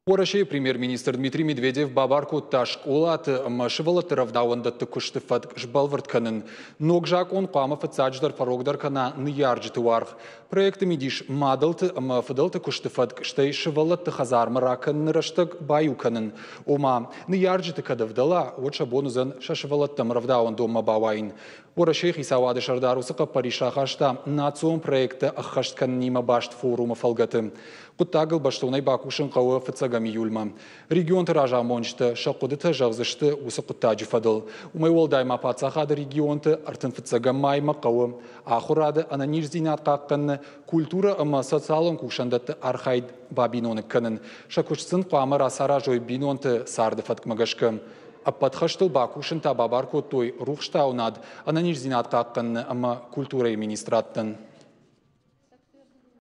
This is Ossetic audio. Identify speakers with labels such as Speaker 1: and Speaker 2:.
Speaker 1: Уӕрӕсейы премьер-министр Дмитрий Медведев бабар кодта скъолаты ӕмӕ сывӕллӕтты рӕвдауӕндӕтты куысты фӕтк сбӕлвырд кӕнын. Ног закъон хъуамӕ фыццаджыдӕр фӕрогдӕр кӕна ныййарджыты уаргъ. Проекты мидис мадӕлты ӕмӕ фыдӕлты куысты фӕтк, стӕй сывӕллӕтты хӕдзармӕ ракӕныны рӕстӕг баиу кӕнын. Ома, ныййарджыты кӕд ӕвдӕла, уӕд сӕ бон уыдзӕн сӕ сывӕллӕттӕм рӕвдауӕндонмӕ бауайын. Уӕрӕсейы хицауады сӕрдар уыцы хъӕппӕрис рахаста национ проекттӕ ӕххӕст кӕнынимӕ баст форумы фӕлгӕты. Хъуыддагыл бӕстонӕй бакусын хъӕуы фыццӕгӕм июльмӕ. Регионты разамонджытӕ сӕ хъуыдытӕ зӕгъдзысты уыцы хъуыддаджы фӕдыл. Уымӕй уӕлдай ма паддзахады регионты 35 маймӕ хъӕуы ахуырады, ӕнӕниздзинад хъахъхъӕныны, культурӕ ӕмӕ социалон кусӕндӕтты архайд бабиноныг кӕнын. Сӕ куыст сын хъуамӕ рацаразой бинонты царды фӕткмӕ гӕсгӕ. Ӕппӕт хӕстыл бакусын та бабар кодтой рухстауынад, ӕнӕниздзинад хъахъхъӕныны ӕмӕ культурӕйы министрадтӕн.